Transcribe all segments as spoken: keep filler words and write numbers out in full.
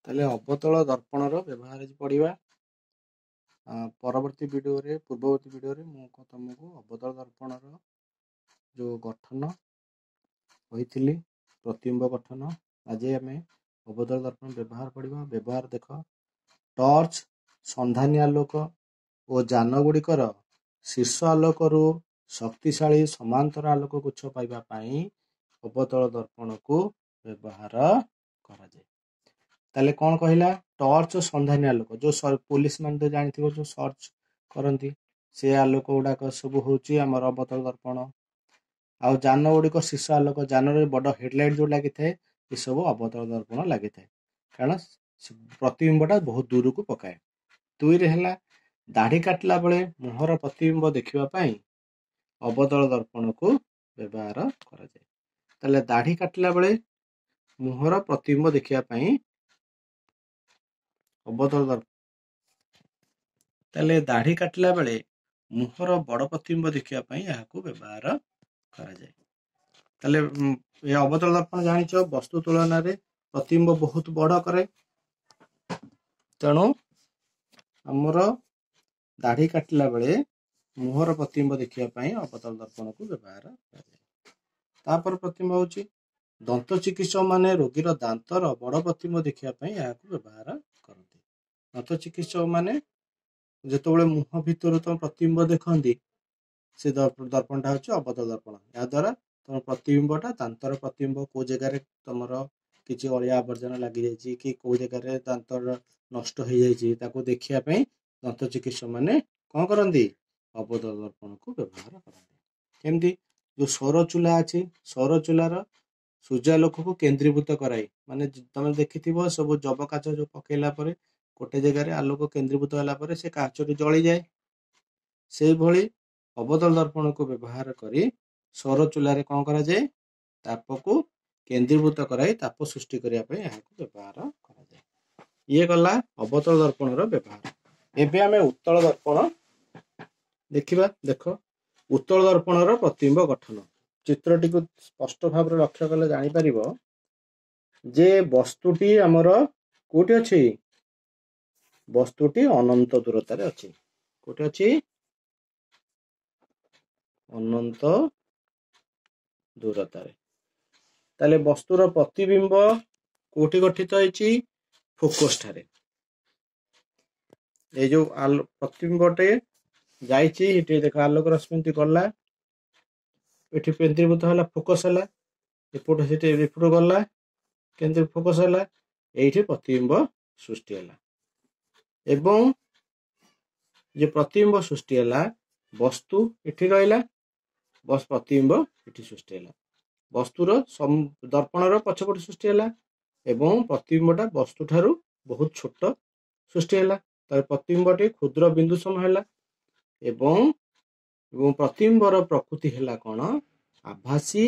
ତାହେଲେ ଅବତଳ ଦର୍ପଣର ବ୍ୟବହାର ଆଜି ପଢ଼ିବା। ପରବର୍ତ୍ତୀ ଭିଡ଼ିଓରେ, ପୂର୍ବବର୍ତ୍ତୀ ଭିଡ଼ିଓରେ ମୁଁ ତମକୁ ଅବତଳ ଦର୍ପଣର ଯେଉଁ ଗଠନ କହିଥିଲି, ପ୍ରତିବିମ୍ବ ଗଠନ। ଆଜି ଆମେ ଅବତଳ ଦର୍ପଣ ବ୍ୟବହାର ପଢ଼ିବା। ବ୍ୟବହାର ଦେଖ, ଟର୍ଚ୍ଚ, ସନ୍ଧାନୀ ଆଲୋକ ଓ ଯାନ ଗୁଡ଼ିକର ଶୀର୍ଷ ଆଲୋକରୁ ଶକ୍ତିଶାଳୀ ସମାନ୍ତର ଆଲୋକ ଗୁଚ୍ଛ ପାଇବା ପାଇଁ ଅବତଳ ଦର୍ପଣକୁ ବ୍ୟବହାର କରାଯାଏ। ତାହେଲେ କ'ଣ କହିଲା? ଟର୍ଚ୍ଚ, ସନ୍ଧାନୀ ଆଲୋକ, ଯୋଉ ପୋଲିସ ମାନେ ତ ଜାଣିଥିବ ଯୋଉ ସର୍ଚ୍ଚ କରନ୍ତି, ସେ ଆଲୋକ ଗୁଡାକ ସବୁ ହଉଛି ଆମର ଅବତଳ ଦର୍ପଣ। ଆଉ ଯାନ ଗୁଡ଼ିକ ଶୀର୍ଷ ଆଲୋକ, ଯାନରେ ବଡ଼ ହେଡଲାଇଟ୍ ଯୋଉ ଲାଗିଥାଏ, ଏସବୁ ଅବତଳ ଦର୍ପଣ ଲାଗିଥାଏ, କାରଣ ପ୍ରତିବିମ୍ବଟା ବହୁତ ଦୂରକୁ ପକାଏ। ଦୁଇରେ ହେଲା ଦାଢ଼ି କାଟିଲା ବେଳେ ମୁହଁର ପ୍ରତିବିମ୍ବ ଦେଖିବା ପାଇଁ ଅବତଳ ଦର୍ପଣକୁ ବ୍ୟବହାର କରାଯାଏ। ତାହେଲେ ଦାଢ଼ି କାଟିଲା ବେଳେ ମୁହଁର ପ୍ରତିବିମ୍ବ ଦେଖିବା ପାଇଁ ଅବତଳ ଦର୍ପଣ, ତାହେଲେ ଦାଢ଼ି କାଟିଲା ବେଳେ ମୁହଁର ବଡ଼ ପ୍ରତିବିମ୍ବ ଦେଖିବା ପାଇଁ ଏହାକୁ ବ୍ୟବହାର କରାଯାଏ। ତାହେଲେ ଏ ଅବତଳ ଦର୍ପଣ ଜାଣିଛ, ବସ୍ତୁ ତୁଳନାରେ ପ୍ରତିବିମ୍ବ ବହୁତ ବଡ଼ କରେ, ତେଣୁ ଆମର ଦାଢ଼ି କାଟିଲା ବେଳେ ମୁହଁର ପ୍ରତିବିମ୍ବ ଦେଖିବା ପାଇଁ ଅବତଳ ଦର୍ପଣକୁ ବ୍ୟବହାର କରାଯାଏ। ତାପରେ ପ୍ରତିବିମ୍ବ ହଉଛି ଦନ୍ତ ଚିକିତ୍ସକ ମାନେ ରୋଗୀର ଦାନ୍ତର ବଡ଼ ପ୍ରତିବିମ୍ବ ଦେଖିବା ପାଇଁ ଏହାକୁ ବ୍ୟବହାର କରନ୍ତି। ଦନ୍ତ ଚିକିତ୍ସକ ମାନେ ଯେତେବେଳେ ମୁହଁ ଭିତରୁ ତମ ପ୍ରତିବିମ୍ବ ଦେଖନ୍ତି, ସେ ଦର୍ପଣଟା ହଉଛି ଅବତଳ ଦର୍ପଣ। ଏହାଦ୍ୱାରା ତମ ପ୍ରତିବିମ୍ବଟା, ଦାନ୍ତର ପ୍ରତିବିମ୍ବ କୋଉ ଜାଗାରେ ତମର କିଛି ଅଳିଆ ଆବର୍ଜନା ଲାଗିଯାଇଛି କି କୋଉ ଜାଗାରେ ଦାନ୍ତର ନଷ୍ଟ ହେଇଯାଇଛି, ତାକୁ ଦେଖିବା ପାଇଁ ଦନ୍ତ ଚିକିତ୍ସକ ମାନେ କଣ କରନ୍ତି? ଅବତଳ ଦର୍ପଣକୁ ବ୍ୟବହାର କରନ୍ତି। କେମିତି? ଯୋଉ ସୌର ଚୁଲା ଅଛି, ସୌର ଚୁଲାର ସୂର୍ଯ୍ୟାଲୋକକୁ କେନ୍ଦ୍ରୀଭୂତ କରାଇ, ମାନେ ତମେ ଦେଖିଥିବ ସବୁ ଯବ କାଚ ଯୋଉ ପକେଇଲା ପରେ ଗୋଟେ ଜାଗାରେ ଆଲୋକ କେନ୍ଦ୍ରୀଭୂତ ହେଲା ପରେ ସେ କାଚଟି ଜଳିଯାଏ, ସେଇଭଳି ଅବତଳ ଦର୍ପଣକୁ ବ୍ୟବହାର କରି ସୌର ଚୁଲାରେ କଣ କରାଯାଏ? ତାପକୁ କେନ୍ଦ୍ରୀଭୂତ କରାଇ ତାପ ସୃଷ୍ଟି କରିବା ପାଇଁ ଏହାକୁ ବ୍ୟବହାର କରାଯାଏ। ଇଏ ଗଲା ଅବତଳ ଦର୍ପଣର ବ୍ୟବହାର। ଏବେ ଆମେ ଉତ୍ତଳ ଦର୍ପଣ ଦେଖିବା। ଦେଖ, ଉତ୍ତଳ ଦର୍ପଣର ପ୍ରତିବିମ୍ବ ଗଠନ ଚିତ୍ରଟିକୁ ସ୍ପଷ୍ଟ ଭାବରେ ଲକ୍ଷ୍ୟ କଲେ ଜାଣିପାରିବ ଯେ ବସ୍ତୁଟି ଆମର କୋଉଠି ଅଛି? ବସ୍ତୁଟି ଅନନ୍ତ ଦୂରତାରେ ଅଛି। କୋଉଠି ଅଛି? ଅନନ୍ତ ଦୂରତାରେ। ତାହେଲେ ବସ୍ତୁର ପ୍ରତିବିମ୍ବ କୋଉଠି ଗଠିତ ହେଇଛି? ଫୋକସ ଠାରେ। ଏଇ ଯୋଉ ପ୍ରତିବିମ୍ବଟେ ଯାଇଛି, ଏଠି ଦେଖ ଆଲୋକ ରଶ୍ମି ଗଲା, ଏଠି କେନ୍ଦ୍ରୀଭୂତ ହେଲା, ଫୋକସ ହେଲା, ଏପଟୁ ସେଠି ଏପଟୁ ଗଲା, କେନ୍ଦ୍ର ଫୋକସ ହେଲା, ଏଇଠି ପ୍ରତିବିମ୍ବ ସୃଷ୍ଟି ହେଲା। ଏବଂ ଯେ ପ୍ରତିବିମ୍ବ ସୃଷ୍ଟି ହେଲା, ବସ୍ତୁ ଏଠି ରହିଲା, ବସ୍ ପ୍ରତିବିମ୍ବ ଏଠି ସୃଷ୍ଟି ହେଲା, ବସ୍ତୁର ଦର୍ପଣର ପଛପଟୁ ସୃଷ୍ଟି ହେଲା, ଏବଂ ପ୍ରତିବିମ୍ବଟା ବସ୍ତୁ ଠାରୁ ବହୁତ ଛୋଟ ସୃଷ୍ଟି ହେଲା। ତାର ପ୍ରତିବିମ୍ବଟି କ୍ଷୁଦ୍ର ବିନ୍ଦୁ ସମ ହେଲା, ଏବଂ ଏବଂ ପ୍ରତିବିମ୍ବର ପ୍ରକୃତି ହେଲା କଣ? ଆଭାସୀ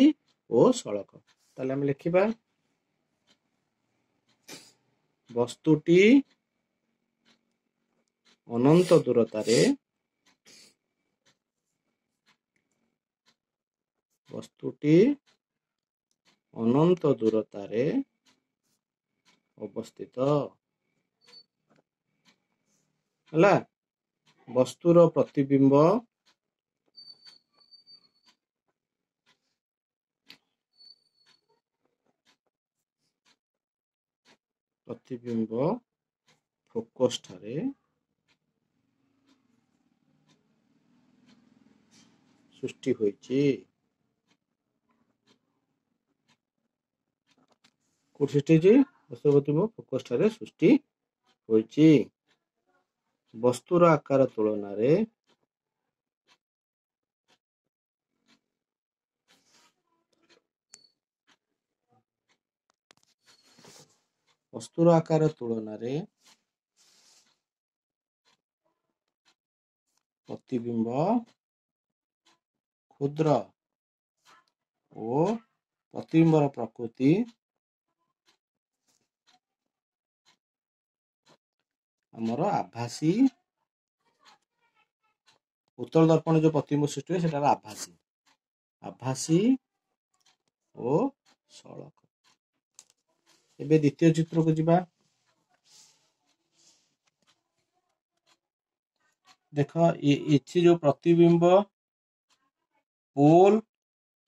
ଓ ସଳଖ। ତାହେଲେ ଆମେ ଲେଖିବା, ବସ୍ତୁଟି ଅନନ୍ତ ଦୂରତାରେ, ବସ୍ତୁଟି ଅନନ୍ତ ଦୂରତାରେ ଅବସ୍ଥିତ ହେଲା, ବସ୍ତୁର ପ୍ରତିବିମ୍ବ ପ୍ରତିବିମ୍ବ ଫୋକସ ଠାରେ ସୃଷ୍ଟି ହୋଇଛି। କୋଉଠି ସୃଷ୍ଟି ହେଇଛି? ବସ୍ତୁର ପ୍ରତିବିମ୍ବ ଫୋକସ ଠାରେ ସୃଷ୍ଟି ହୋଇଛି। ବସ୍ତୁର ଆକାର ତୁଳନାରେ ବସ୍ତୁର ଆକାର ତୁଳନାରେ ପ୍ରତିବିମ୍ବ କ୍ଷୁଦ୍ର ଓ ପ୍ରତିବିମ୍ବର ପ୍ରକୃତି ଆମର ଆଭାସୀ। ଉତ୍ତଳ ଦର୍ପଣ ଯୋଉ ପ୍ରତିବିମ୍ବ ସୃଷ୍ଟି ହୁଏ ସେଟାର ଆଭାସୀ, ଆଭାସୀ ଓ ସଳଖ। ଏବେ ଦ୍ୱିତୀୟ ଚିତ୍ରକୁ ଯିବା। ଦେଖ, ଏଠି ଯୋଉ ପ୍ରତିବିମ୍ବ ପୋଲ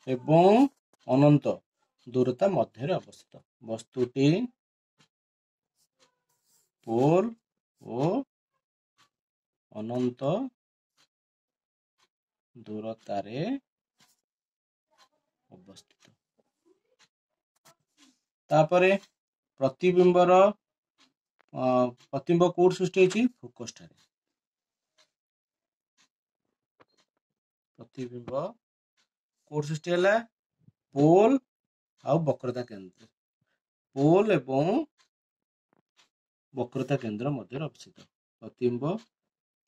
ଏବଂ ଅନନ୍ତ ଦୂରତା ମଧ୍ୟରେ ଅବସ୍ଥିତ। ବସ୍ତୁଟି ପୋଲ ଓ ଅନନ୍ତ ଦୂରତାରେ ଅବସ୍ଥିତ। ତାପରେ ପ୍ରତିବିମ୍ବର ପ୍ରତିବିମ୍ବ କୋଉଠି ସୃଷ୍ଟି ହେଇଛି? ଫୋକସ ଠାରେ। ପ୍ରତିବିମ୍ବ କୋଉଠି ସୃଷ୍ଟି ହେଲା? ପୋଲ ଆଉ ବକ୍ରତା କେନ୍ଦ୍ର, ପୋଲ ଏବଂ ବକ୍ରତା କେନ୍ଦ୍ର ମଧ୍ୟରେ ଅବସ୍ଥିତ। ପ୍ରତିବିମ୍ବ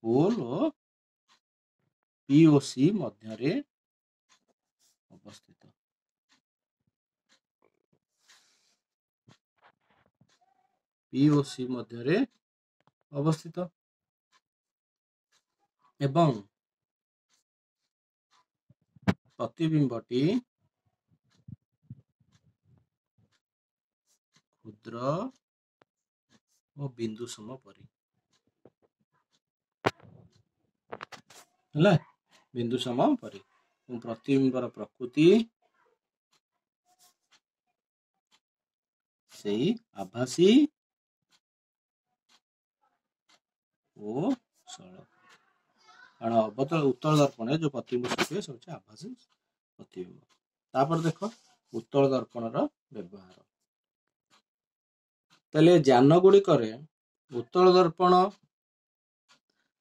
ପୋଲ ଓ ପି ଓ ସି ମଧ୍ୟରେ ଅବସ୍ଥିତ। ପି ଓ ସି ମଧ୍ୟରେ ଅବସ୍ଥିତ ଏବଂ ପ୍ରତିବିମ୍ବଟି କ୍ଷୁଦ୍ର ଓ ବିନ୍ଦୁ ସମ ପରି ହେଲା, ବିନ୍ଦୁ ସମ ପରି। ପ୍ରତିବିମ୍ବର ପ୍ରକୃତି ସେଇ ଆଭାସୀ ଓ ସରଳ। କାରଣ ଅବତଳ ଉତ୍ତଳ ଦର୍ପଣରେ ଯୋଉ ପ୍ରତିବିମ୍ବ ସୃଷ୍ଟି ହୁଏ ସେ ହଉଛି ଆଭାସୀ ପ୍ରତିବିମ୍ବ। ତାପରେ ଦେଖ ଉତ୍ତଳ ଦର୍ପଣର ବ୍ୟବହାର। ତାହେଲେ ଯାନ ଗୁଡ଼ିକରେ ଉତ୍ତଳ ଦର୍ପଣ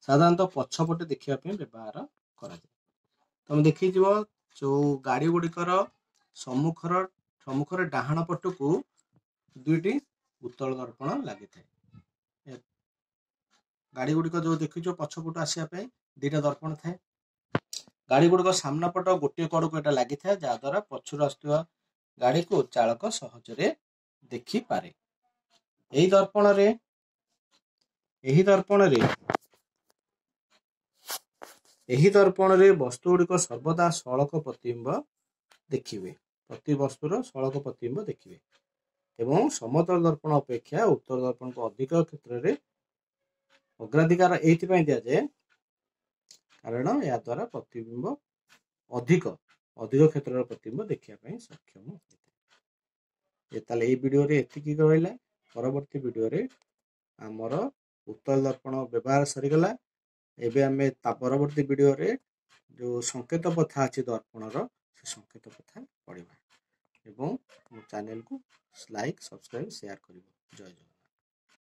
ସାଧାରଣତଃ ପଛପଟେ ଦେଖିବା ପାଇଁ ବ୍ୟବହାର କରାଯାଏ। ତମେ ଦେଖିଥିବ ଯୋଉ ଗାଡି ଗୁଡ଼ିକର ସମ୍ମୁଖର ସମ୍ମୁଖରେ ଡାହାଣ ପଟକୁ ଦୁଇଟି ଉତ୍ତଳ ଦର୍ପଣ ଲାଗିଥାଏ। ଗାଡି ଗୁଡ଼ିକ ଯୋଉ ଦେଖିଛ ପଛପଟୁ ଆସିବା ପାଇଁ ଦିଟା ଦର୍ପଣ ଥାଏ। ଗାଡି ଗୁଡ଼ିକ ସାମ୍ନା ପଟ ଗୋଟିଏ କଡ଼କୁ ଏଟା ଲାଗିଥାଏ, ଯାହାଦ୍ୱାରା ପଛରୁ ଆସୁଥିବା ଗାଡିକୁ ଚାଳକ ସହଜରେ ଦେଖିପାରେ। ଏହି ଦର୍ପଣରେ ଏହି ଦର୍ପଣରେ ଏହି ଦର୍ପଣରେ ବସ୍ତୁ ଗୁଡ଼ିକ ସର୍ବଦା ସଳଖ ପ୍ରତିବିମ୍ବ ଦେଖିବେ, ପ୍ରତି ବସ୍ତୁର ସଳଖ ପ୍ରତିବିମ୍ବ ଦେଖିବେ ଏବଂ ସମତଳ ଦର୍ପଣ ଅପେକ୍ଷା ଉତ୍ତର ଦର୍ପଣକୁ ଅଧିକ କ୍ଷେତ୍ରରେ ଅଗ୍ରାଧିକାର ଏଇଥିପାଇଁ ଦିଆଯାଏ କାରଣ ଏହା ଦ୍ୱାରା ପ୍ରତିବିମ୍ବ ଅଧିକ ଅଧିକ କ୍ଷେତ୍ରର ପ୍ରତିବିମ୍ବ ଦେଖିବା ପାଇଁ ସକ୍ଷମ ହୋଇଥାଏ। ତାହେଲେ ଏଇ ଭିଡ଼ିଓରେ ଏତିକି ରହିଲା। ପରବର୍ତ୍ତୀ ଭିଡ଼ିଓରେ ଆମର ଉତ୍ତର ଦର୍ପଣ ବ୍ୟବହାର ସରିଗଲା। ଏବେ ଆମେ ତା ପରବର୍ତ୍ତୀ ଭିଡ଼ିଓରେ ଯେଉଁ ସଂକେତ ପଥା ଅଛି ଦର୍ପଣର, ସେ ସଂକେତ ପଥା ପଢ଼ିବା ଏବଂ ମୋ ଚ୍ୟାନେଲକୁ ଲାଇକ୍, ସବସ୍କ୍ରାଇବ୍, ସେୟାର କରିବ। ଜୟ ଜଗନ୍ନାଥ।